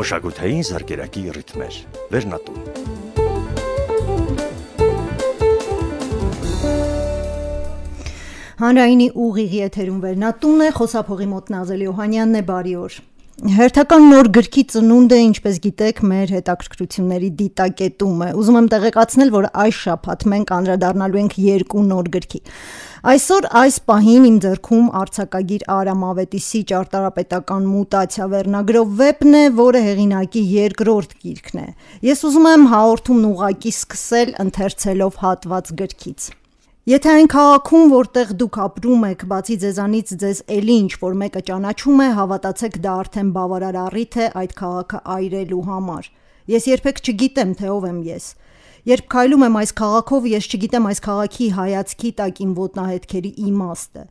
Մշակութային զարգերակի ռիթմեր, Վերնատուն։ Հանրայինի ուղիղ եթերում Վերնատունն է, խոսափողի մոտ Նազելի Օհանյանն է, բարի օր։ Հերթական նոր գրքի ծնունդը, ինչպես գիտեք, մեր հետաքրքրությունների դիտակետում է։ Ուզում եմ տեղեկացնել, որ այս շաբաթ մենք անդրադառնալու ենք երկու նոր գրքի։ Այսօր այս պահին իմ ձեռքում արձակագիր Արամ Ավետիսի «Ճարտարապետական մուտացիա» վերնագրով վեպն է, որը հեղինակի երկրորդ գիրքն է։ Ես ուզում եմ հաղորդումն ուղղակի սկսել ընթերցելով հատված գրքից։ Եթե այն քաղաքում, որտեղ դուք ապրում եք, բացի ձեզանից ձեզ էլի ինչ-որ մեկը ճանաչում է, հավատացեք, դա արդեն բավարար առիթ է այդ քաղաքը այրելու համար։ Ես երբեք չգիտեմ, թե ով եմ ես։ Երբ քայլում եմ այս քաղաքով, ես չգիտեմ այս քաղաքի հայացքի տակ իմ ոտնահետքերի իմաստը։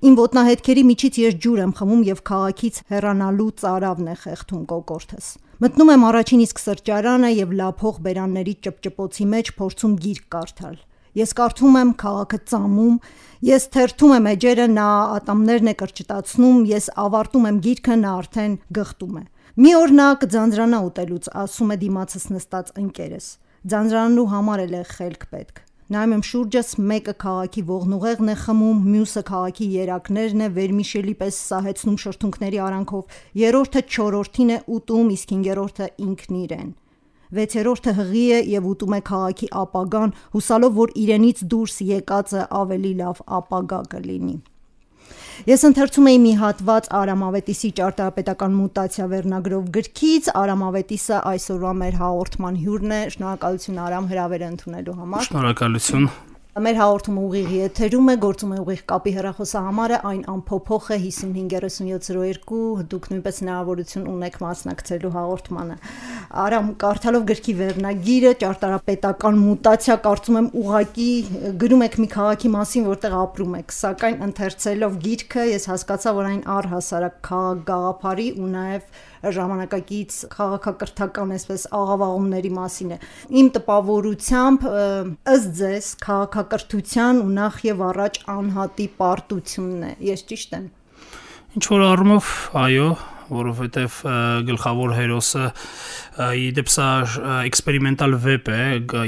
Իմ ոտնահետքերի միջից ես ջուր եմ խմում և քաղաքից հեռանալու ծարավն է խեղդում կոկորդս։ Մտնում եմ առաջին իսկ սրճարանը և լափող բերանների ճպճպոցի մեջ փորձում գիրք կարդալ։ Ես կարդում եմ, քաղաքը ծամում, ես թերթում եմ էջերը, նա ատամներն է կրճտացնում, ես ավարտում եմ գիրքը, նա արդեն գղտում է։ Մի օր նա կձանձրանա ուտելուց, ասում է դիմացս նստած ընկերս։ Ձանձրանալու համար էլ է խելք պետք։ Նայում եմ շուրջս, մեկը քաղաքի ողնուղեղն է խմում, մյուսը քաղաքի երակներն է վերմիշելի պես սահեցնում շրթունքների արանքով, երրորդը չորրորդին է ուտում, իսկ հինգերորդը ինքն իրեն։ Վեցերորդը հղի է և ուտում է քաղաքի ապագան, հուսալով, որ իրենից դուրս եկածը ավելի լավ ապագա կլինի։ Ես ընթերցում էի մի հատված Արամ Ավետիսի «Ճարտարապետական մուտացիա» վերնագրով գրքից։ Արամ Ավետիսը այսօրվա մեր հաղորդման հյուրն է։ Շնորհակալություն Արամ, հրավերը ընդունելու համար։ Շնորհակալություն։ Մեր հաղորդումը ուղիղ եթերում է, գործում է ուղիղ կապի հեռախոսահամարը, այն անփոփոխ է 553702, դուք նույնպես հնարավորություն ունեք մասնակցելու հաղորդմանը։ Արամ, կարդալով գրքի վերնագիրը «Ճարտարապետական մուտացիա», կարծում եմ ուղղակի գրում եք մի քաղաքի մասին, որտեղ ապրում եք, սակայն ընթերցելով գիրքը ես հասկացա, որ այն առհասարակ քաղաք-գաղափարի ու նաև ժամանակակից քաղաքակրթական այսպես աղավաղումների մասին է։ Իմ տպավորությամբ ըստ ձեզ քաղաքակրթության ու նախ եւ առաջ անհատի պարտությունն է։ Ես ճիշտ եմ։ Ինչ որ առումով, այո, որովհետև գլխավոր հերոսը իդեպ սա էքսպերիմենտալ վեպ է,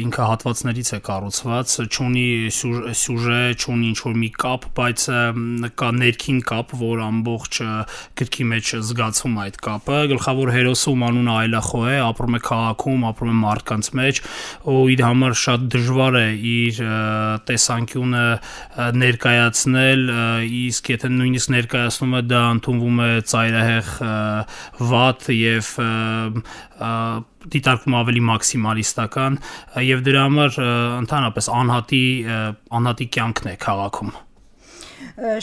ինքը հատվածներից է կառուցված, չունի սյուժե, չունի ինչ-որ մի կապ, բայց կա ներքին կապ, որ ամբողջ գրքի մեջ զգացում այդ կապը։ Գլխավոր հերոսը, ում անունը Այլախո է, ապրում է քաղաքում, ապրում է մարդկանց մեջ, ու իր համար շատ դժվար է իր տեսանկյունը ներկայացնել, իսկ եթե նույնիսկ ներկայացնում է, դա ընդունվում է ծայրահեղ վատ և դիտարկվում ավելի մաքսիմալիստական և դրա համար ընդհանրապես անհատի կյանքն է քաղաքում։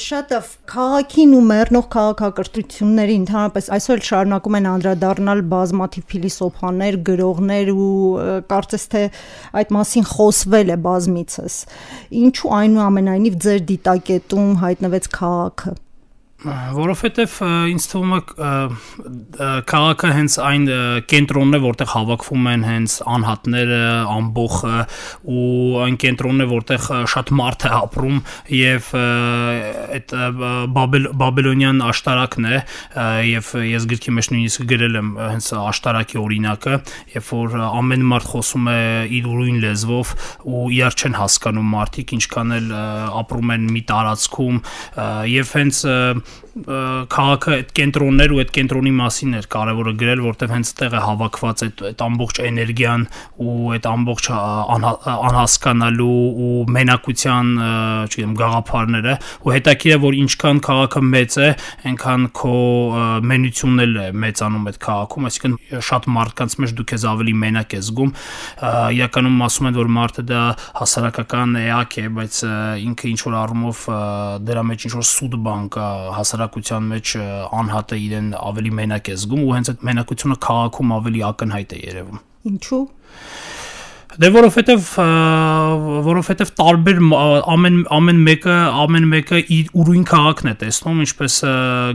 Շատ քաղաքին ու մեռնող քաղաքակրթությունների ընդհանրապես այսօր շարունակում են անդրադառնալ բազմաթիվ փիլիսոփաներ, գրողներ ու կարծես թե այդ մասին խոսվել է բազմիցս։ Ինչու այնուամենայնիվ ձեր դիտակետում հայտնվեց քաղաքը։ Որովհետև ինձ թվում է քաղաքը հենց այն կենտրոնն է, որտեղ հավաքվում են հենց անհատները, ամբոխը ու այն կենտրոնն է, որտեղ շատ մարդ է ապրում և այդ բաբելոնյան աշտարակն է և ես գրքի մեջ նույնիսկ գրել եմ հենց աշտարակի օրինակը, երբ որ ամեն մարդ խոսում է իր ուրույն լեզվով ու իրար չեն հասկանում մարդիկ, ինչքան էլ ապրում են մի տարածքում և հենց քաղաքը այդ կենտրոններ ու այդ կենտրոնի մասին էր կարևորը գրել, որտեղ հենց տեղ է հավաքված այդ ամբողջ էներգիան ու այդ ամբողջ անհասկանալու ու մենակության, չգիտեմ, գաղափարները ու հետաքրքիր է, որ ինչքան քաղաքը մեծ է, այնքան քո մենությունն էլ է մեծանում այդ քաղաքում, այսինքն շատ մարդկանց մեջ դու քեզ ավելի մենակ ես զգում, իրականում ասում են, որ մարդը դա հասարակական էակ է, բայց ինքը ինչ-որ առումով դրա մեջ ինչ-որ սուտ բան կա, հասարակության մեջ անհատը իրեն ավելի մենակ է զգում ու հենց այդ մենակությունը քաղաքում ավելի ակնհայտ է երևում։ Ինչու՞։ Դե որովհետև տարբեր ամեն մեկը իր ուրույն քաղաքն է տեսնում, ինչպես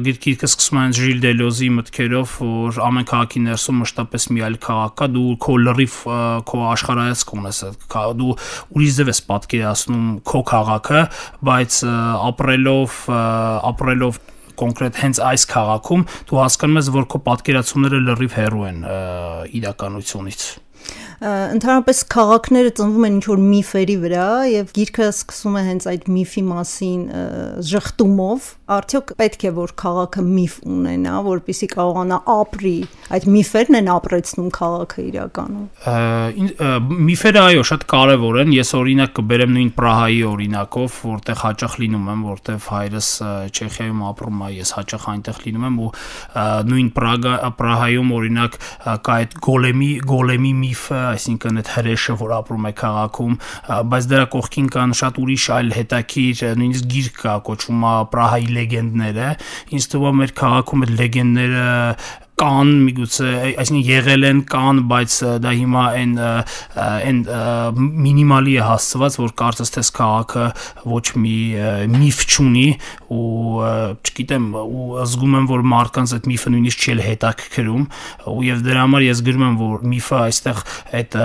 գիրքը սկսում է Ժիլ Դելոզի մտքերով, որ ամեն քաղաքի ներսում մշտապես մի այլ քաղաք կա, դու քո լրիվ քո աշխարհայացք ունես, դու ուրիշ ձև ես պատկերացնում քո քաղաքը, բայց ապրելով կոնկրետ հենց այս քաղաքում դու հասկանում ես, որ քո պատկերացումները լրիվ հեռու են իրականությունից։ Ընդհանրապես քաղաքները ծնվում են ինչ-որ միֆերի վրա եւ գիրքը սկսում է հենց այդ միֆի մասին ժխտումով, արդյոք պետք է որ քաղաքը միֆ ունենա, որպեսզի կարողանա ապրի, այդ միֆերն են ապրեցնում քաղաքը իրականում։ Միֆերը այո, շատ կարևոր են, ես օրինակ կբերեմ նույն Պրահայի օրինակով, որտեղ հաճախ լինում եմ, որտեղ հայրս Չեխիայում ապրում է, ես հաճախ այնտեղ լինում եմ ու նույն Պրահայում օրինակ կա այդ գոլեմի միֆը, այսինքն այդ հրեշը, որ ապրում է քաղաքում, բայց դրա կողքին կան շատ ուրիշ այլ հետաքրքիր, նույնիսկ գիրք կա, կոչվում է Պրահայի լեգենդները, ինձ թվում է մեր քաղաքում այդ լեգենդները կան միգուցե, այսինքն եղել են կան, բայց դա հիմա այն մինիմալի է հասցված, որ կարծես թե քաղաքը ոչ մի միֆ չունի ու չգիտեմ, ու զգում եմ, որ մարդկանց այդ միֆը նույնիսկ չի հետաքրքրում ու եւ դրա համար ես գրում եմ, որ միֆը այստեղ այդ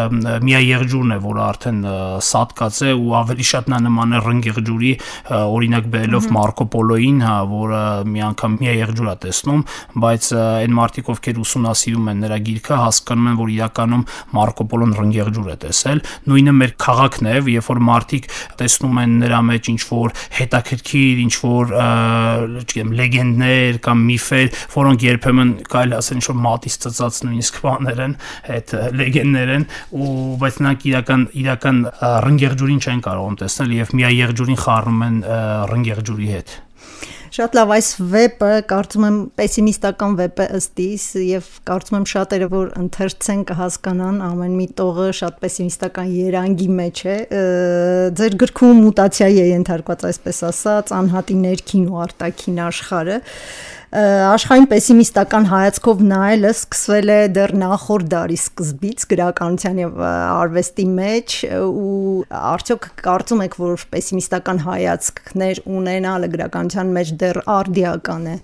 միաեղջուրն է, որը արդեն սատկած է ու ավելի շատ նա նման է ռնգեղջուրի, օրինակ բերելով Մարկո Պոլոին, հա, որը մի անգամ միաեղջուր է տեսնում, բայց այն մարդիկ ովքեր ուսումնասիրում են նրա գիրքը, հասկանում են, որ իրականում Մարկո Պոլոն ռնգեղջուր է տեսել, նույնը մեր քաղաքն է, երբ որ մարդիկ տեսնում են նրա մեջ ինչ-որ հետաքրքիր, ինչ-որ, չգիտեմ, լեգենդներ կամ միֆեր, որոնք երբեմն կարելի ասել ինչ-որ մատից ծծած նույնիսկ բաներ են, այդ լեգենդներ են, բայց նրանք իրական ռնգեղջուրին չեն կարողում տեսնել եւ միաեղջուրին խառնում են ռնգեղջուրի հետ։ Շատ լավ, այս վեպը կարծում եմ պեսիմիստական վեպ է ըստ իս եւ կարծում եմ շատերը որ ընթերցեն կհասկանան ամեն մի տողը շատ պեսիմիստական երանգի մեջ է։ Ձեր գրքում մուտացիայի է ենթարկված, այսպես ասած, անհատի ներքին ու արտաքին աշխարհը։ Աշխարհին պեսիմիստական հայացքով նայելը սկսվել է դեռ նախորդ դարի սկզբից գրականության եւ արվեստի մեջ ու արդյոք կարծում եք որ պեսիմիստական հայացքներ ունենալը գրականության մեջ դեռ արդիական է։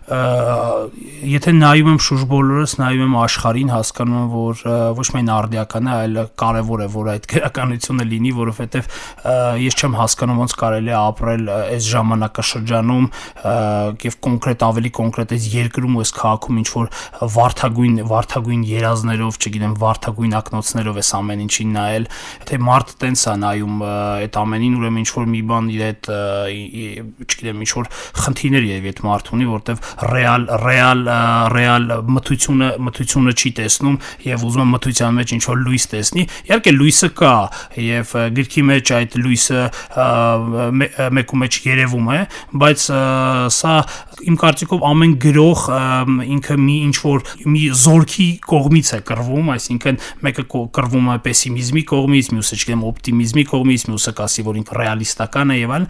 Եթե նայում եմ շուրջ բոլորս, նայում եմ աշխարհին, հասկանում եմ, որ ոչ միայն արդիական է, այլ կարևոր է, որ այդ գրականությունը լինի, որովհետև ես չեմ հասկանում ոնց կարելի է ապրել այս ժամանակաշրջանում եւ կոնկրետ ավելի կոնկրետ այս երկրում ու այս քաղաքում ինչ որ վարդագույն երազներով, չգիտեմ, վարդագույն ակնոցներով էս ամեն ինչին նայել, թե մարդ տենց է նայում այդ ամենին, ուրեմն ինչ որ մի բան իր այդ, չգիտեմ, ինչ որ խնդիրներ եւ այդ մարդ ունի, որտեվ ռեալ մթությունը չի տեսնում եւ ուզում է մթության մեջ ինչ որ լույս տեսնի։ Իհարկե լույսը կա եւ գրքի մեջ այդ լույսը մեկու մեջ երևում է, բայց սա իմ կարծիքով ամեն գրող ինքը մի ինչ որ մի զորքի կողմից է կռվում, այսինքն մեկը կռվում է պեսիմիզմի կողմից, մյուսը չգիտեմ օպտիմիզմի կողմից, մյուսը կասի որ ինքը ռեալիստական է եւ այլն։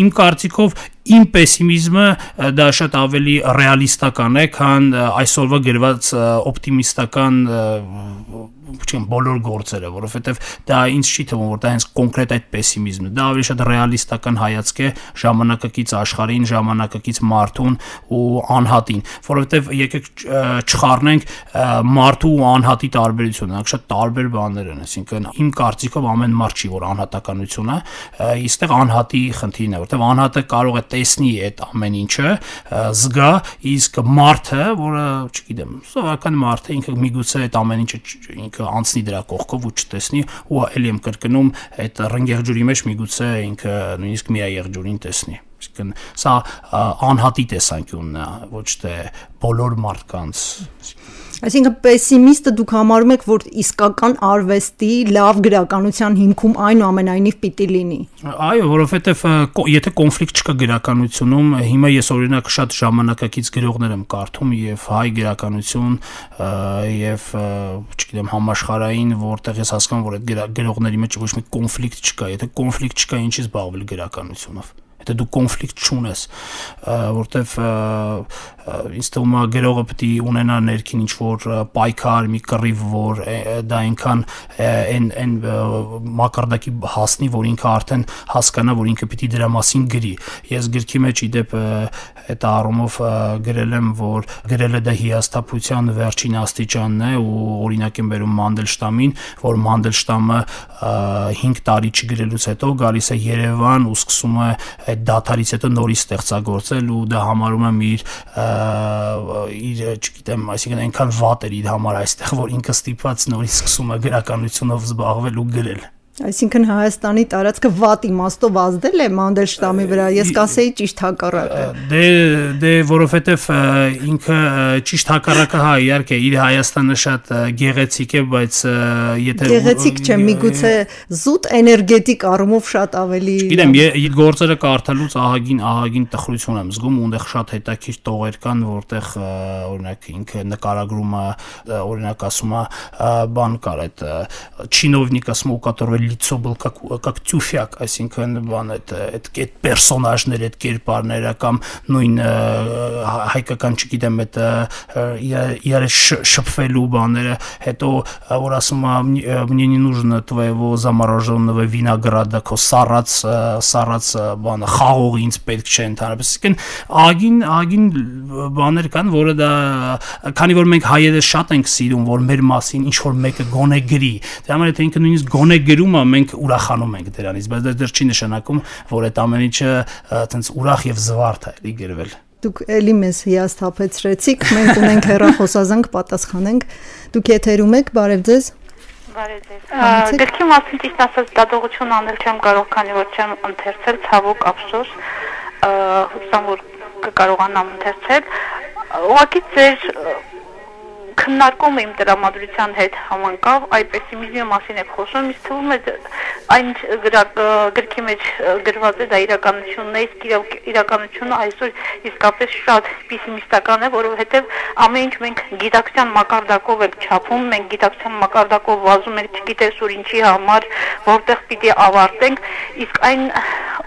Իմ կարծիքով իմ պեսիմիզմը դա շատ ավելի ռեալիստական է, քան այսօրվա գրված օպտիմիստական չեմ բոլոր գործերը, որովհետև դա ինձ չի թվում, որ դա հենց կոնկրետ այդ պեսիմիզմն է, դա ավելի շատ ռեալիստական հայացք է ժամանակակից աշխարհին, ժամանակակից մարդուն ու անհատին, որովհետև եկեք չխառնենք մարդու ու անհատի տարբերությունը, նրանք շատ տարբեր բաներ են, այսինքն իմ կարծիքով ամեն մարդ չի, որ անհատականություն է, այստեղ անհատի խնդիրն է, որովհետև անհատը կարող է տեսնի այդ ամեն ինչը, զգա, իսկ մարդը, որը, չգիտեմ, սովորական մարդը ինքը միգուցե այդ ամեն ինչը ինքը անցնի դրա կողքով ու չտեսնի ու էլի եմ կրկնում այդ ռնգեղջուրի մեջ միգուցե ինքը նույնիսկ միաեղջուրին տեսնի։ Այսինքն սա անհատի տեսանկյունն է, ոչ թե բոլոր մարդկանց։ Այսինքն պեսիմիստը դուք համարում եք, որ իսկական արվեստի լավ գրականության հիմքում այնուամենայնիվ պիտի լինի։ Այո, որովհետև եթե կոնֆլիկտ չկա գրականությունում, հիմա ես օրինակ շատ ժամանակակից գրողներ եմ կարդում եւ հայ գրականություն եւ չգիտեմ համաշխարհային, որտեղ ես հասկանում որ այդ գրողների մեջ ոչ մի կոնֆլիկտ չկա, եթե կոնֆլիկտ չկա, ինչի՞ց զբաղվել գրականությունով։ Եթե դու կոնֆլիկտ չունես, որտեվ ինձ թվում է գրողը պետք է ունենա ներքին ինչ որ պայքար, մի կռիվ, որ դա այնքան այն մակարդակի հասնի, որ ինքը արդեն հասկանա, որ ինքը պետք է դրա մասին գրի։ Ես գրքի մեջ իդեպ այդ առումով գրել եմ, որ գրելը դա հիասթափության վերջին աստիճանն է ու օրինակ եմ բերում Մանդելշտամին, որ Մանդելշտամը 5 տարի չգրելուց հետո գալիս է Երևան ու սկսում է այդ դաթարից հետո նորից ստեղծագործել ու դա համարում եմ իր չգիտեմ, այսինքն այնքան վատ էր իր համար այստեղ, որ ինքը ստիպված նորից սկսում է գրականությունով զբաղվել ու գրել։ Այսինքն Հայաստանի տարածքը վատ իմաստով ազդել է Մանդելշտամի վրա, ես կասեի ճիշտ հակառակը։ Դե որովհետև ինքը ճիշտ հակառակը հա իհարկե իր Հայաստանը շատ գեղեցիկ է, բայց եթե գեղեցիկ չէ, միգուցե զուտ էներգետիկ առումով շատ ավելի։ Գիտեմ, գործերը կարդալուց ահագին տխրություն եմ զգում, ունդեղ շատ հետաքրքիր տողեր կան, որտեղ օրինակ ինքը նկարագրում է, օրինակ ասում է, բան կար այդ չինովնիկ ասում ու կատարվել лицо был как тюфяк, այսինքն բան այդ պերսոնաժները, այդ կերպարները կամ նույն հայկական չգիտեմ այդ իրար շփվելու բաները, հետո որ ասում мне не нужно твоего замороженного винограда, քո սառած բանը խաղողը ինձ պետք չէ ընդհանրապես, այսինքն ագին բաներ կան, որը դա քանի որ մենք հայերը շատ ենք սիրում, որ մեր մասին ինչ որ մեկը գոնե գրի, դրա համար եթե ինքը նույնիսկ գոնե գրում մենք ուրախանում ենք դրանից, բայց դա դեռ չի նշանակում, որ այդ ամեն ինչը այտենց ուրախ եւ զվարթ է էլի գրվել։ Դուք էլի մեզ հիասթափեցրեցիք, մենք ունենք հեռախոսազանգ, պատասխանենք։ Դուք եթերում եք, բարև ձեզ։ Բարև ձեզ։ Գրքի մասին ճիշտ ասած դատողություն անել չեմ կարող, քանի որ չեմ ընթերցել, ցավոք ափսոս, հուսամ որ կկարողանամ ընթերցել։ Ուղղակի ձեր քննարկումը իմ տրամադրության հետ համընկավ, այ պեսիմիզմի մասին եք խոսում, ինձ թվում է այն գրքի մեջ գրված է դա իրականությունն է, իսկ իրականությունը այսօր իսկապես շատ պեսիմիստական է, որովհետև ամեն ինչ մենք գիտակցության մակարդակով ենք չափում, մենք գիտակցության մակարդակով վազում ենք, չգիտես որ ինչի համար, որտեղ պիտի ավարտենք, իսկ այն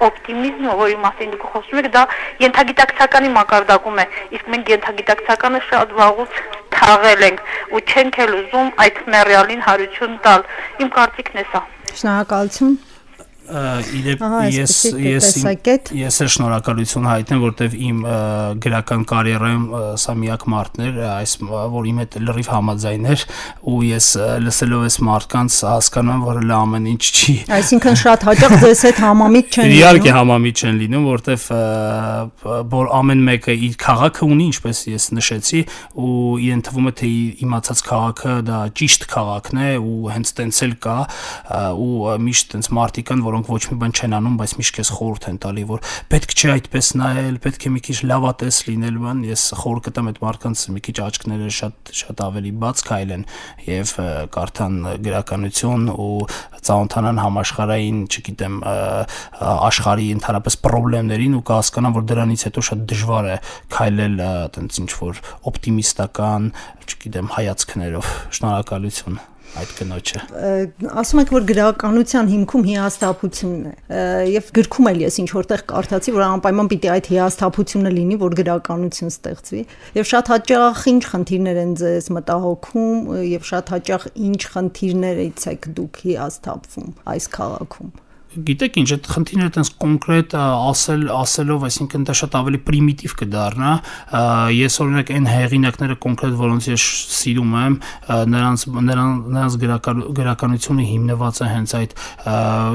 օպտիմիզմը, որի մասին դուք խոսում եք, դա ենթագիտակցականի մակարդակում է, իսկ մենք ենթագիտակցականը շատ վաղուց թաղել ենք ու չենք էլ ուզում այդ մեռյալին հարություն տալ։ Իմ կարծիքն է սա։ Շնորհակալություն։ Ես շնորհակալություն հայտնեմ, որտեվ իմ գրական կարիերայում սա միակ մարդն էր, որ իմ հետ լրիվ համաձայն էր ու ես լսելով այս մարդկանց հասկանում եմ, որ լա ամեն ինչ չի։ Այսինքն շատ հաճախ ձեզ հետ համամիտ չեն լինում։ Իհարկե համամիտ չեն լինում, որտեվ որ ամեն մեկը իր քաղաքը ունի, ինչպես ես նշեցի, ու իրեն թվում է թե իմացած քաղաքը դա ճիշտ քաղաքն է ու հենց տենց էլ կա ու միշտ տենց մարդիկ կան, որոնք ոչ մի բան չեն անում, բայց միշտ քեզ խորհուրդ են տալի, որ պետք չէ այդպես նայել, պետք է մի քիչ լավատես լինել, բան, ես խորհուրդ կտամ այդ մարդկանց մի քիչ աչքները շատ ավելի բաց քայլեն եւ կարդան գրականություն ու ծանոթանան համաշխարհային, չգիտեմ, աշխարհի ընդհանրապես խնդիրներին ու կհասկանան, որ դրանից հետո շատ դժվար է քայլել այտենց ինչ որ օպտիմիստական, չգիտեմ, հայացքներով։ Շնորհակալություն այդ կնոջը։ Ասում եք, որ գրականության հիմքում հիասթափությունն է, եւ գրքում էլ ես ինչ որտեղ կարդացի, որ անպայման պիտի այդ հիասթափությունը լինի, որ գրականություն ստեղծվի, եւ շատ հաճախ ինչ խնդիրներ են ձեզ մտահոգում եւ շատ հաճախ ինչ խնդիրներից եք դուք հիասթափվում այս քաղաքում։ Գիտեք ինչ, այդ խնդիրները այտենց կոնկրետ ասելով, այսինքն դա շատ ավելի պրիմիտիվ կդառնա։ Ես օրինակ այն հեղինակները կոնկրետ, որոնց ես սիրում եմ, նրանց գրականությունը հիմնված է հենց այդ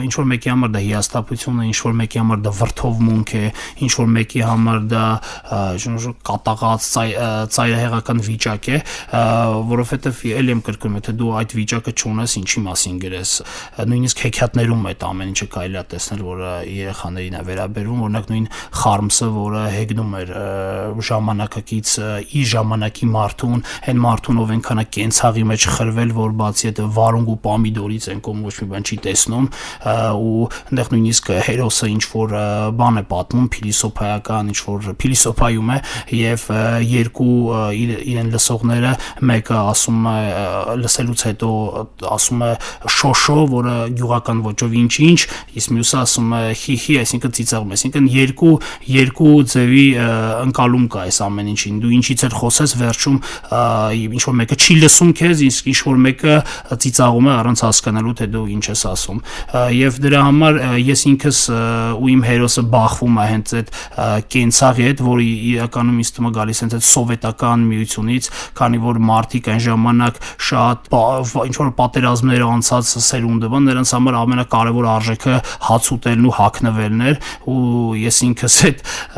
ինչ որ մեկի համար դա հիասթափություն է, ինչ որ մեկի համար դա վրդովմունք է, ինչ որ մեկի համար դա կատաղած ծայրահեղական վիճակ է, որովհետև ել եմ կրկնում, եթե դու այդ վիճակը չունես, ինչի մասին գրես, նույնիսկ հեքիաթներում այդ ամեն ինչը կարելի է տեսնել, որ երեխաներին է վերաբերվում, օրինակ նույն Խարմսը, որը հեգնում էր ժամանակակից իր ժամանակի մարդուն, այն մարդուն ով այնքան է կենցաղի մեջ խրվել, որ բացի այդ վարունգ ու պամիդորից են կողմ ոչ մի բան չի տեսնում ու այնտեղ նույնիսկ հերոսը ինչ որ բան է պատմում, փիլիսոփայական, ինչ որ փիլիսոփայում է եւ երկու իրեն լսողները մեկը ասում է լսելուց հետո ասում է շոշո, որը գյուղական ոճով ինչ, իսկ մյուսը ասում է խիխի, այսինքն ծիծաղում, այսինքն երկու ձևի ընկալում կա այս ամեն ինչին, դու ինչից էլ խոսես վերջում ինչ որ մեկը չի լսում քեզ, իսկ ինչ որ մեկը ծիծաղում է առանց հասկանալու թե դու ինչ ես ասում եւ դրա համար ես ինքս ու իմ հերոսը բախվում է հենց այդ կենցաղի հետ, որը իրականում ինձ թվում է գալիս հենց այդ սովետական միությունից, քանի որ մարդիկ այն ժամանակ շատ ինչ որ պատերազմներ անցած սերունդը, նրանց համար ամենակարևոր արժեքը նպատակը հաց ուտելն ու հագնվելն էր ու ես ինքս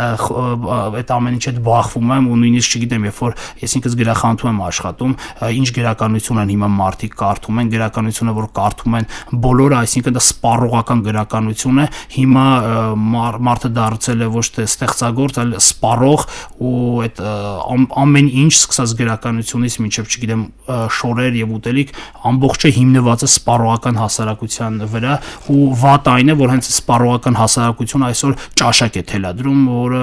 այդ ամեն ինչ հետ բախվում եմ ու նույնիսկ չգիտեմ երբ որ ես ինքս գրախանութում եմ աշխատում ինչ գրականություն են հիմա մարդիկ կարդում են գրականությունը որ կարդում են բոլորը այսինքն դա սպառողական գրականություն է հիմա մարդը դարձել է ոչ թե ստեղծագործ այլ սպառող ու այդ ամեն ինչ սկսած գրականությունից մինչև չգիտեմ շորեր եւ ուտելիք ամբողջը հիմնված է սպառողական հասարակության վրա ու վատ այն է որ հենց սպառողական հասարակությունը այսօր ճաշակ է թելադրում որը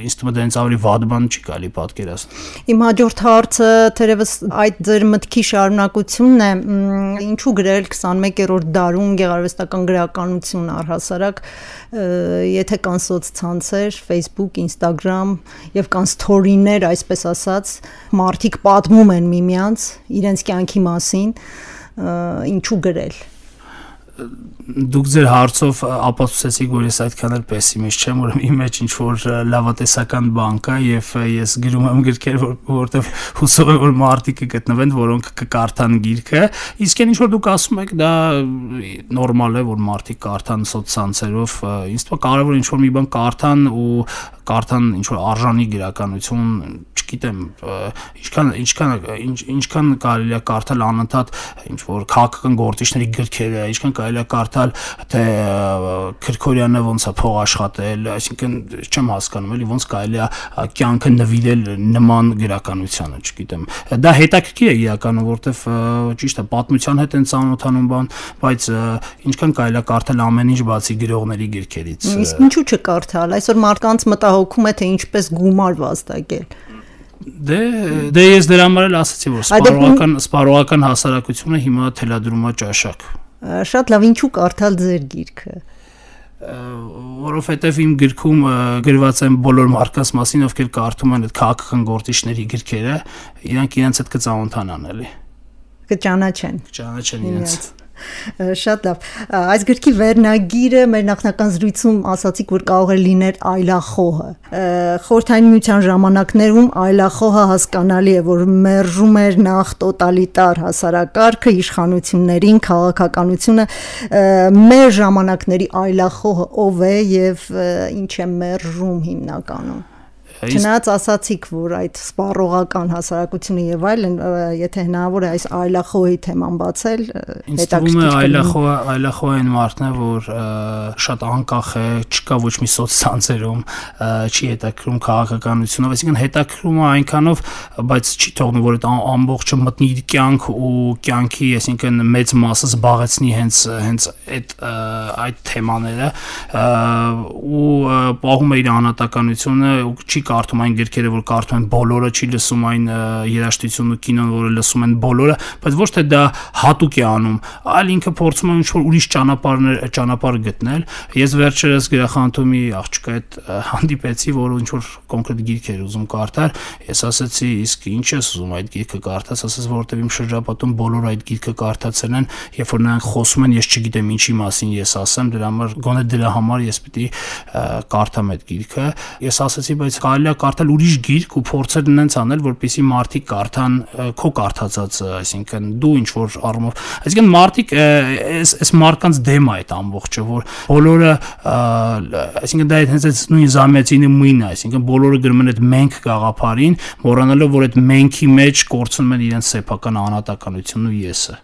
ինձ թվում է դա հենց ավելի վատ բան չի կարելի պատկերացնել Իմ հաջորդ հարցը թերևս այդ ձեր մտքի շարունակությունն է ինչու գրել 21-րդ դարում գեղարվեստական գրականություն առհասարակ եթե կան սոցցանցեր Facebook, Instagram եւ կան սթորիներ այսպես ասած մարդիկ պատմում են միմյանց իրենց կյանքի մասին ինչու գրել Դուք ձեր հարցով ապացուցեցիք, որ ես այդքան էլ պեսիմիստ չեմ, որ իմ մեջ ինչ-որ լավատեսական բան կա եւ ես գրում եմ գրքեր, որտեղ հուսով եմ, որ մարդիկ կգտնվեն, որոնք կկարդան գիրքը, իսկ այն ինչ-որ դուք ասում եք, դա նորմալ է, որ մարդիկ կարդան սոցցանցերով, ինձ թվում է կարևոր ինչ-որ մի բան կարդան ու կարդան ինչ-որ արժանի գրականություն, չգիտեմ, ինչքան կարելի է կարդալ անընդհատ ինչ-որ քաղաքական գործիչների գրքերը, ինչքան կարելի է կարդալ թե Քրքորյանը ոնց է փող աշխատել, այսինքն չեմ հասկանում էլի ոնց կարելի է կյանքը նվիրել նման գրականությանը, չգիտեմ։ Դա հետաքրքիր է իրականում, որտեվ ճիշտ է, պատմության հետ են ծանոթանում բան, բայց ինչքան կարելի է կարդալ ամեն ինչ բացի գրողների գրքերից։ Իսկ ինչու չկարդալ։ Այսօր մարդկանց մտահոգում է թե ինչպես գումար վաստակել։ Դե ես դրա համար էլ ասացի, որ սպառողական հասարակությունը հիմա թելադրում է ճաշակ։ Շատ լավ, ինչու կարդալ ձեր գիրքը։ Որովհետև իմ գրքում գրված են բոլոր մարդկանց մասին, ովքեր կարդում են այդ քաղաքական գործիչների գրքերը, իրանք իրենց հետ կծանոթանան էլի։ Կճանաչեն իրենց։ Շատ լավ։ Այս գրքի վերնագիրը մեր նախնական զրույցում ասացիք, որ կարող է լինել այլախոհը։ Խորհրդային Միության ժամանակներում այլախոհը հասկանալի է, որ մերժում էր նախ տոտալիտար հասարակարգը, իշխանություններին, քաղաքականությունը։ Մեր ժամանակների այլախոհը ով է եւ ինչ է մերժում հիմնականում։ Չնայած ասացիք, որ այդ սպառողական հասարակությունը եւ այլն, եթե հնարավոր է այս այլախոհի թեման բացել, հետաքրքիր է այլախոհային մարդն է, որ շատ անկախ է, չկա ոչ մի սոցցանցերում, չի հետաքրում քաղաքականությունով, այսինքն հետաքրում է այնքանով, բայց չի թողնում, որ այդ ամբողջը մտնի իր կյանք ու կյանքի, այսինքն մեծ մասը զբաղեցնի հենց այդ թեմաները ու պահում է իր անհատականությունը ու չի կարդում այն գրքերը, որ կարդում են բոլորը, չի լսում այն երաժշտությունն ու կինոն, որը լսում են բոլորը, բայց ոչ թե դա հատուկ է անում, այլ ինքը փորձում է ինչ-որ ուրիշ ճանապարհ գտնել։ Ես վերջերս գրախանութում մի աղջկա հետ հանդիպեցի, որը ինչ-որ կոնկրետ գիրք էր ուզում կարդալ, ես ասացի, իսկ ինչ ես ուզում այդ գիրքը կարդաս, ասաց, որովհետև իմ շրջապատում բոլորը այդ գիրքը կարդացել են, երբ որ նրանք խոսում են, ես չգիտեմ ինչի մասին ես ասեմ, դրա համար գոնե դրա համար ես պիտի կարդամ այդ գիրքը։ Ես ասացի, բայց կարելի է կարդալ ուրիշ գիրք ու փորձել նենց անել, որպեսզի մարդիկ կարդան քո կարդացածը, այսինքն դու ինչ որ առումով, այսինքն մարդիկ այս մարդկանց դեմ է այդ ամբողջը, որ բոլորը, այսինքն դա հենց նույն զամիացինի մույնը, այսինքն բոլորը գրում են այդ մենք գաղափարին, մոռանալով որ այդ մենքի մեջ կորցնում են իրենց սեփական անհատականությունն ու եսը։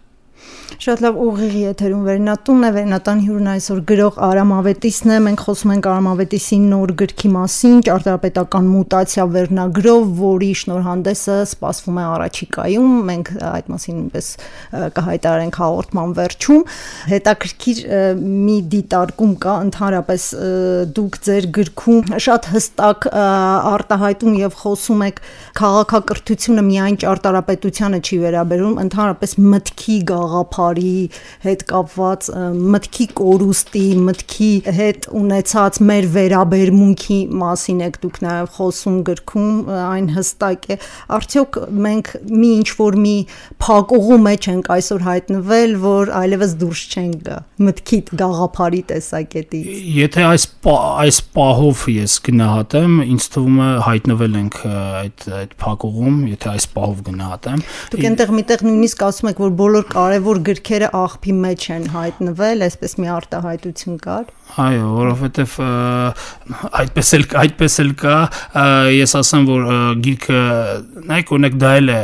Շատ լավ ուղիղ եթերում Վերնատունն է, Վերնատան հյուրն այսօր գրող Արամ Ավետիսն է, մենք խոսում ենք Արամ Ավետիսի նոր գրքի մասին, ճարտարապետական մուտացիա վերնագրով, որի շնորհանդեսը սպասվում է առաջիկայում, մենք այդ մասին նույնպես կհայտարարենք հաղորդման վերջում։ Հետաքրքիր մի դիտարկում կա, ընդհանրապես դուք ձեր գրքում շատ հստակ արտահայտում եւ խոսում եք քաղաքակրթությունը միայն ճարտարապետությանը չի վերաբերում, ընդհանրապես մտքի գաղափարի հետ կապված մտքի կորուստի, մտքի հետ ունեցած մեր վերաբերմունքի մասին եք դուք նաև խոսում գրքում, այն հստակ է։ Արդյոք մենք մի ինչ-որ մի փակուղու մեջ ենք այսօր հայտնվել, որ այլևս դուրս չենք գա մտքի գաղափարի տեսակետից։ Եթե այս պահով ես գնահատեմ, ինձ թվում է հայտնվել ենք այդ փակուղում, եթե այս պահով գնահատեմ։ Դուք այնտեղ միտեղ նույնիսկ ասում եք, որ բոլոր կարևոր գրքերը աղբի մեջ են հայտնվել, այսպես մի արտահայտություն կար։ Այո, որովհետև այդպես էլ կա, ես ասեմ, որ գիրքը, նայեք, օրինակ դա էլ է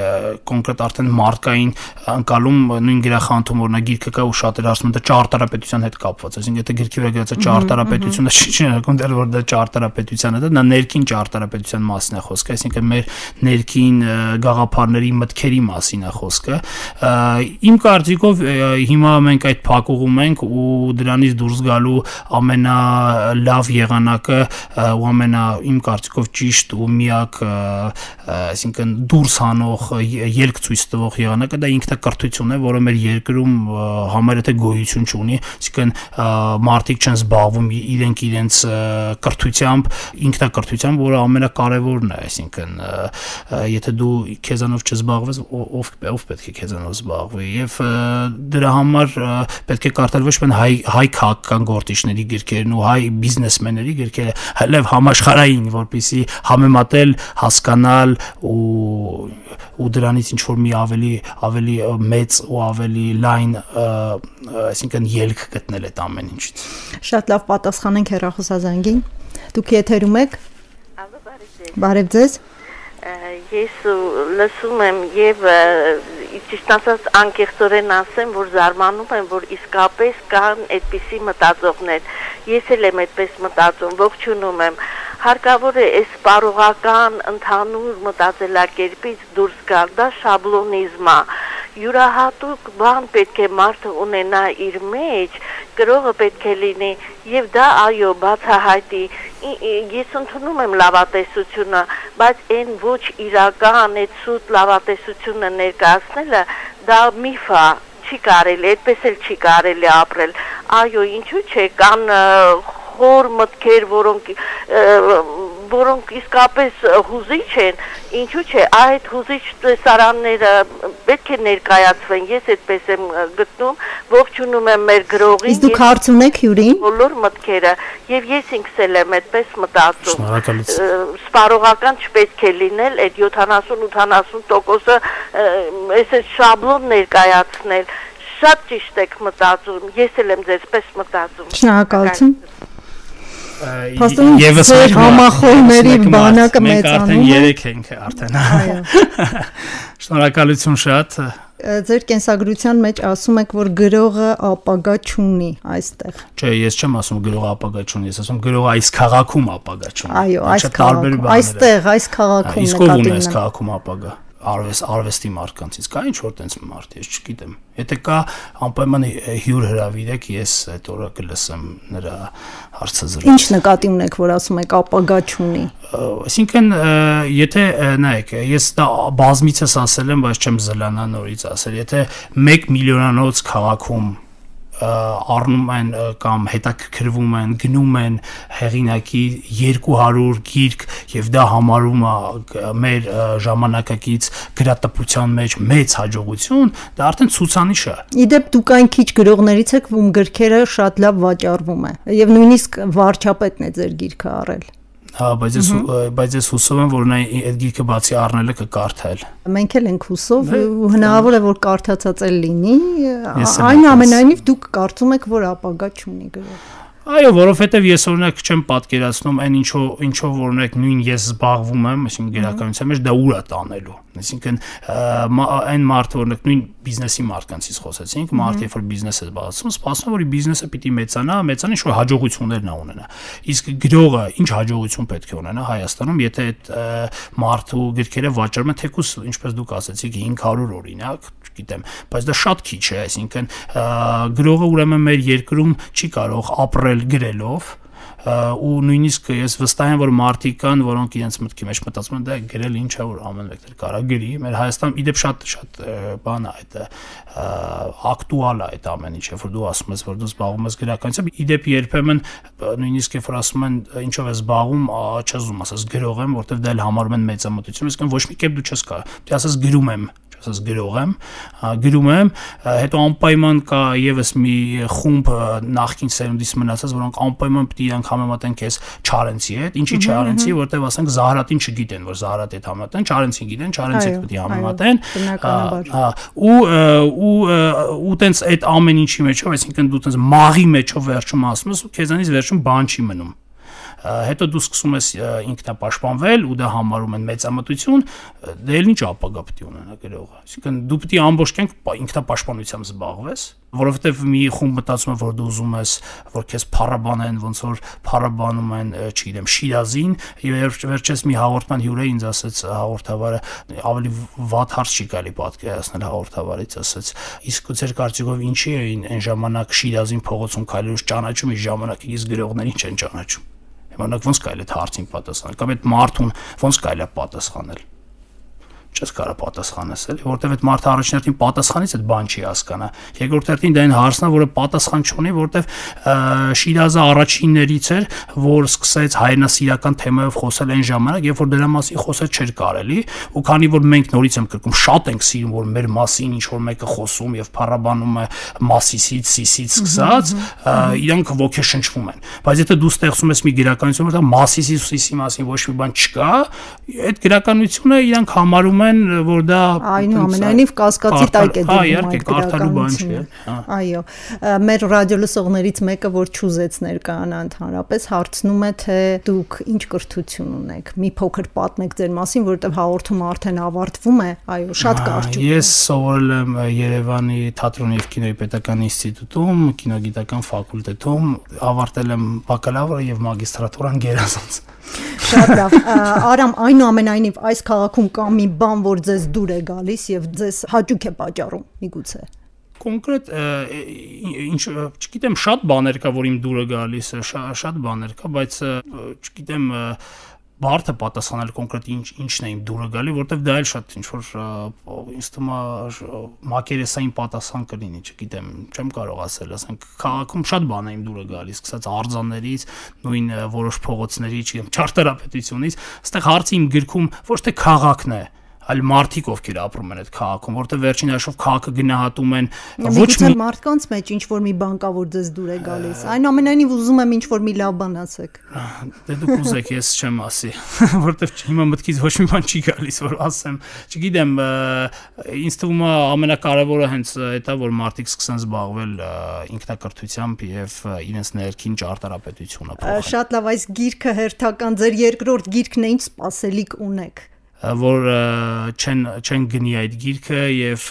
կոնկրետ արդեն մարկային անցալում նույն գրախանութում, օրինակ գիրքը կա ու շատերը ասում են դա ճարտարապետության հետ կապված, այսինքն եթե գրքի վրա գրած է ճարտարապետությունը, չի նշանակում դեռ որ դա ճարտարապետության է, դա ներքին ճարտարապետության մասին է խոսքը, այսինքն մեր ներքին գաղափարների մտքերի մասին է խոսքը։ Իմ կարծիքով հիմա մենք այդ փակուղում ենք ու դրանից դուրս գալու ամենալավ եղանակը ու իմ կարծիքով ճիշտ ու միակ, այսինքն դուրս հանող ելք ցույց տվող եղանակը դա ինքնակրթությունն է, որը մեր երկրում համարյա թե գոյություն չունի, այսինքն մարդիկ չեն զբաղվում իրենց կրթությամբ, ինքնակրթությամբ, որը ամենակարևորն է, այսինքն եթե դու քեզանով չզբաղվես, ով պետք է քեզանով զբաղվի, եւ դրա համար պետք է կարդալ ոչ միայն հայ քաղաքական գործիչների գրքերն ու հայ բիզնեսմենների գրքերը, այլև համաշխարհային, որպեսզի համեմատել, հասկանալ ու դրանից ինչ որ մի ավելի մեծ ու ավելի լայն, այսինքն ելք գտնել այդ ամեն ինչից։ Շատ լավ պատասխանենք հեռախոսազանգին։ Դուք եթերում եք։ Բարև ձեզ։ Ես լսում եմ եւ ճիշտ ասած անկեղծորեն ասեմ, որ զարմանում եմ, որ իսկապես կան այդպիսի մտածողներ։ Ես էլ եմ այդպես մտածում, ողջունում եմ։ Հարկավոր է այս սպառողական ընդհանուր մտածելակերպից դուրս գալ, դա շաբլոնիզմ է։ Յուրահատուկ բան պետք է մարդը ունենա իր մեջ, գրողը պետք է լինի եւ դա այո բացահայտի։ Ես ընդունում եմ լավատեսությունը, բայց այն ոչ իրական, այդ սուտ լավատեսությունը ներկայացնելը դա միֆ է, չի կարելի, այդպես էլ չի կարելի ապրել։ Այո, ինչու՞ չէ, կան խոր մտքեր, որոնք իսկապես հուզիչ են, ինչու՞ չէ, այդ հուզիչ տեսարանները պետք է ներկայացվեն, ես այդպես եմ գտնում, ողջունում եմ մեր գրողին։ Իսկ դուք հարց ունեք հյուրին։ Բոլոր մտքերը, եւ ես ինքս էլ եմ այդպես մտածում։ Շնորհակալություն։ Սպառողական չպետք է լինել այդ 70-80%-ը այս շաբլոն ներկայացնել։ Շատ ճիշտ եք մտածում, ես էլ եմ ձեզպես մտածում։ Շնորհակալություն։ Եվս համախոհների բանակը մեծանում է։ Մենք արդեն 3 ենք արդեն։ Այո։ Շնորհակալություն շատ։ Ձեր կենսագրության մեջ ասում եք, որ գրողը ապագա չունի այստեղ։ Չէ, ես չեմ ասում գրողը ապագա չունի, ես ասում գրողը այս քաղաքում ապագա չունի։ Այո, այս քաղաքում, այստեղ, այս քաղաքում նկատի ունեմ։ Իսկ ով ունի այս քաղաքում ապագա։ Արվեստի մարդկանցից կա ինչ որ տենց մարդ, ես չգիտեմ։ Եթե կա, անպայման հյուր հրավիրեք, ես այդ օրը կլսեմ նրա հարցազրույցը։ Ինչ նկատի ունեք, որ ասում եք ապագա չունի։ Այսինքն, եթե նայեք, ես դա բազմիցս ասել եմ, բայց չեմ զլանա նորից ասել, եթե 1 միլիոնանոց քաղաքում առնում են կամ հետաքրքրվում են, գնում են հեղինակի 200 գիրք եւ դա համարում է մեր ժամանակակից գրատպության մեջ մեծ հաջողություն, դա արդեն ցուցանիշ է։ Իդեպ դուք այն քիչ գրողներից եք, ում գրքերը շատ լավ վաճառվում է եւ նույնիսկ վարչապետն է ձեր գիրքը առել։ Հա, բայց ես հուսով եմ, որ նա այդ գիրքը բացի առնելը կկարդալ։ Մենք էլ ենք հուսով, հնարավոր է որ կարդացած էլ լինի, այնուամենայնիվ դուք կարծում եք, որ ապագա չունի գրող։ Այո, որովհետև ես օրինակ չեմ պատկերացնում այն ինչով օրինակ նույն ես զբաղվում եմ, այսինքն գրականության մեջ դա ուր է տանելու։ Այսինքն այն մարդը օրինակ նույն բիզնեսի մարդկանցից խոսեցինք, մարդը երբ որ բիզնես է զբաղվում, սպասում որ բիզնեսը պիտի մեծանա, ինչ որ հաջողություններ նա ունենա։ Իսկ գրողը ինչ հաջողություն պետք է ունենա Հայաստանում, եթե այդ մարդու գրքերը վաճառում են թեկուզ, ինչպես դուք ասացիք 500 օրինակ, չգիտեմ, բայց դա շատ քիչ է, այսինքն գրողը ուրեմն մեր երկրում չի կարող ապրել գրելով ու նույնիսկ ես վստահ եմ որ մարդիկ կան որոնք իրենց մտքի մեջ մտածում են դա գրել ինչ է որ ամեն մեկը կարա գրի մեր Հայաստանում իդեպ շատ բան է այդ ակտուալ է այդ ամեն ինչը որ դու ասում ես որ դու զբաղվում ես գրականությամբ իդեպ երբեմն նույնիսկ երբ որ ասում են ինչով ես զբաղվում չես ուզում ասես գրող եմ որովհետև դա էլ համարում են մեծամտություն իսկ ոչ մի կերպ դու չես կարող դու ասես գրում եմ ասած գրող եմ, գրում եմ, հետո անպայման կա եւս մի խումբ նախկին սերունդից մնացած, որոնք անպայման պետք է իրանք համեմատեն քեզ Չարենցի հետ, ինչի Չարենցի, որտեվ ասենք Զահրատին չգիտեն, որ Զահրատի հետ համեմատեն, Չարենցին գիտեն, Չարենցի հետ պետք է համեմատեն, ու տենց այդ ամեն ինչի մեջով, այսինքն դու տենց մաղի մեջով վերջում ասում ես ու քեզանից վերջում բան չի մնում։ Հետո դու սկսում ես ինքնապաշտպանվել ու դա համարում են մեծամտություն, դե էլ ինչ ապագա պետք է ունենա գրողը։ Այսինքն դու պետք է ամբողջ կյանք ինքնապաշտպանությամբ զբաղվես, որովհետև մի խումբ մտածում է, որ դու ուզում ես, որ քեզ փառաբանեն, ոնց որ փառաբանում են, չգիտեմ, Շիրազին, եւ վերջերս մի հաղորդման հյուր է ինձ ասաց հաղորդավարը, ավելի վատ հարց չի կարելի պատկերացնել հաղորդավարից, ասաց, իսկ ձեր կարծիքով ինչի էին այն ժամանակ Շիրազին փողոցում քայլելուց ճանաչում, իսկ ժամանակ իսկ գրողներին չեն ճանաչում։ Եմանակ ոնց կարելի է հարցին պատասխանել, կամ այդ մարդուն ոնց կարելի է պատասխանել։ Չես կարող պատասխանես, էլի, որովհետև այդ մարդը առաջին պատասխանից այդ բան չի հասկանա։ Երկրորդ հերթին դա այն հարցն է, որը պատասխան չունի, որովհետև Շիրազը առաջիններից էր, որ սկսեց հայրենասիրական թեմայով խոսել այն ժամանակ, երբ որ դրա մասին խոսել չէր կարելի, ու քանի որ մենք նորից եմ կրկում, շատ ենք սիրում, որ մեր մասին ինչ որ մեկը խոսում եւ փառաբանում է Մասիսից, Սիսից սկսած, իրանք ոգեշնչվում են։ Բայց եթե դու ստեղծում ես մի գրականություն, որտեղ Մասիսի ու Սիսի մասին ոչ մի բան չկա, այդ գրականությունը իրանք համարում որ դա այնուամենայնիվ կասկածի տակ է դնում այդ գրականությունը։ Այո, մեր ռադիոլսողներից մեկը, որ չուզեց ներկայանա ընդհանրապես, հարցնում է, թե դուք ինչ կրթություն ունեք։ Մի փոքր պատմեք ձեր մասին, որովհետև հաղորդումը արդեն ավարտվում է։ Այո, շատ կարճ։ Ես սովորել եմ Երևանի թատրոնի եւ կինոյի պետական ինստիտուտում, կինոգիտական ֆակուլտետում, ավարտել եմ բակալավրը եւ մագիստրատուրան գերազանց։ Շատ լավ։ Արամ, այնուամենայնիվ այս քաղաքում կա մի բան, որ ձեզ դուր է գալիս եւ ձեզ հաճույք է պատճառում, միգուցե։ Կոնկրետ ինչ, չգիտեմ, շատ բաներ կա, որ իմ դուրը գալիս է, շատ բաներ կա, բայց չգիտեմ բարդ է պատասխանել կոնկրետ ինչն է իմ դուրը գալի, որովհետև դա էլ շատ ինչ որ ինձ թվում է մակերեսային պատասխան կլինի, չգիտեմ, չեմ կարող ասել, ասենք քաղաքում շատ բան է իմ դուրը գալիս, սկսած արձաններից, նույն որոշ փողոցների, չգիտեմ, ճարտարապետությունից, այստեղ հարցը իմ գրքում ոչ թե քաղաքն է, այլ մարդիկ ովքեր ապրում են այդ քաղաքում, որտեղ վերջին հաշվով քաղաքը գնահատում են ոչ մի մարդկանց մեջ ինչ որ մի բան կա, որ ձեզ դուր է գալիս։ Այնուամենայնիվ ուզում եմ ինչ որ մի լավ բան ասեք։ Դե դուք ուզեք, ես չեմ ասի, որտեղ հիմա մտքից ոչ մի բան չի գալիս, որ ասեմ։ Չգիտեմ, ինձ թվում է ամենակարևորը հենց այդ է, որ մարդիկ սկսեն զբաղվել ինքնակրթությամբ եւ իրենց ներքին ճարտարապետությունը փոխել։ Շատ լավ, այս գիրքը հերթական ձեր երկրորդ գիրքն է, ինչ սպասելիք ունեք։ Որ չեն գնի այդ գիրքը եւ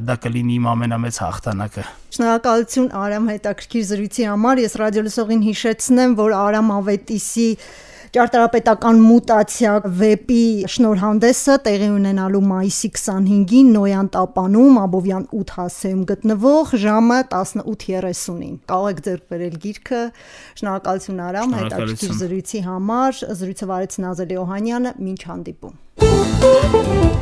դա կլինի իմ ամենամեծ հաղթանակը։ Շնորհակալություն Արամ հետաքրքիր զրույցի համար։ Ես ռադիոլսողին հիշեցնեմ, որ Արամ Ավետիսի ճարտարապետական մուտացիա վեպի շնորհանդեսը տեղի ունենալու մայիսի 25-ին Նոյան տապանում Աբովյան 8 հասցեում գտնվող ժամը 18:30-ին։ Կարող եք ձեռք բերել գիրքը։ Շնորհակալություն Արամ հետաքրքիր զրույցի համար։ Զրույցը վարեց Նազելի Օհանյանը, մինչ հանդիպում։